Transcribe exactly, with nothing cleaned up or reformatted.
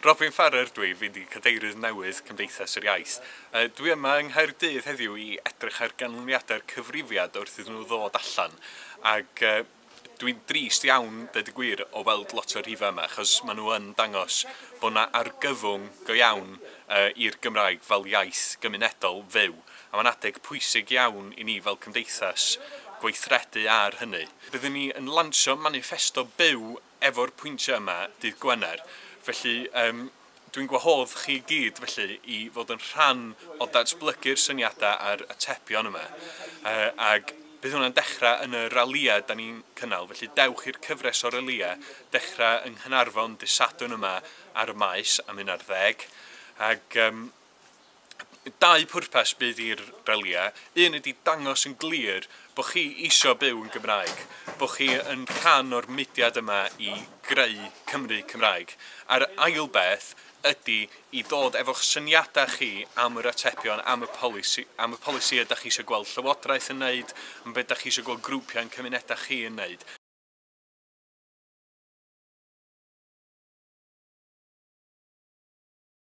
Robin Farrar dwi, fi 'di cadeirydd newydd Cymdeithas yr Iaith. Uh, dwi yma yng Nghaerdydd heddiw i edrych ar ganlyniadau'r cyfrifiad wrth iddyn nhw ddod allan. Ac uh, dwi'n drist iawn, dweud y gwir, o weld lot o'r rhifau yma, achos maen nhw yn dangos bod yna argyfwng go iawn uh, i'r Gymraeg fel iaith gymunedol fyw. A mae'n adeg pwysig iawn i ni fel cymdeithas gweithredu ar hynny. Byddwn ni yn lansio maniffesto byw efo'r pwyntiau yma dydd Gwener. Felly um, dwi'n gwahodd chi gyd felly i fod yn rhan o datblygu'r syniadau a'r atebion yma. Uh, ag bydd hwnna'n dechrau yn y ralïau da ni'n cynnal, felly dewch i'r cyfres o ralïau dechrau yng Nghaernarfon dydd Sadwrn yma ar y maes am un ar ddeg. Ag um, dau pwrpas bydd i'r ralïau. Un ydy dangos yn glir bod chi isio byw yn Gymraeg, bod chi yn rhan o'r mudiad yma i greu Cymru Cymraeg. A'r ail beth ydy i ddod efo'ch syniadau chi am yr atebion, am y polisi, am y polisi ydych chi eisiau gweld Llywodraeth yn neud, am beth ydych chi eisiau gweld grwpiau yn cymunedau chi yn neud.